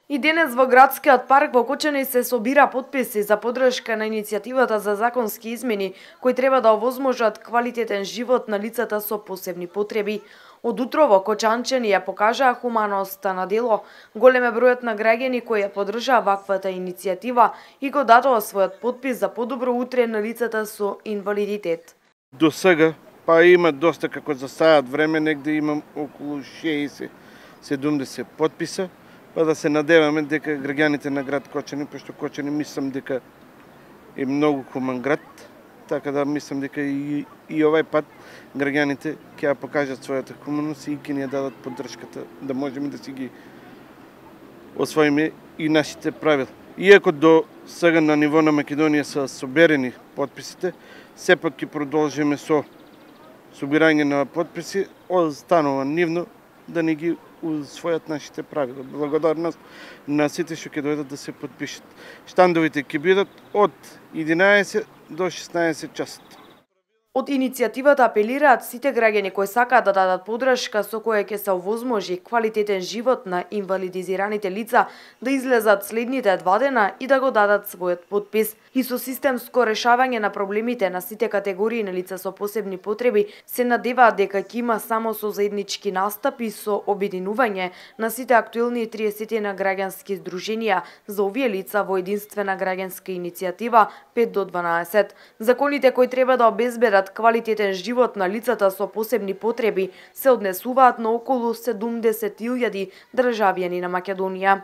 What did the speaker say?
И денес во градскиот парк во Кочани се собира потписи за поддршка на иницијативата за законски измени кои треба да овозможат квалитетен живот на лицата со посебни потреби. Од утрово кочанчани ја покажаа хуманоста на дело. Голем е бројот на граѓани кои ја поддржаа ваквата иницијатива и го дадоа својот потпис за подобро утре на лицата со инвалидитет. До сега, па има доста, како за саат време, негде имам околу 60-70 потписа, па да се надеваме дека граѓаните на град Кочани, пошто Кочани мислам дека е многу хуман град, така да мислам дека и овај пат граѓаните ќе ја покажат својата хуманост и ќе ни ја дадат поддршката да можеме да си ги освоиме и нашите правила. Иако до сега на ниво на Македонија се соберени потписите, сепак ќе продолжиме со собирање на потписи, останува нивно да ни ги усвојат нашите правила. Благодарност на сите што ќе дојдат да се потпишат. Штандовите ќе бидат од 11 до 16 часот. Од иницијативата апелираат сите граѓани кои сакаат да дадат поддршка со која ќе се овозможи квалитетен живот на инвалидизираните лица да излезат следните 2 дена и да го дадат својот потпис. И со системско решавање на проблемите на сите категории на лица со посебни потреби се надеваат дека ќе има само со заеднички настапи со обединување на сите актуелни 30 на граѓански здруженија за овие лица во единствена граѓанска иницијатива 5 до 12. Законите кои треба да обезбедат квалитетен живот на лицата со посебни потреби се однесуваат на околу 70.000 државјани на Македонија.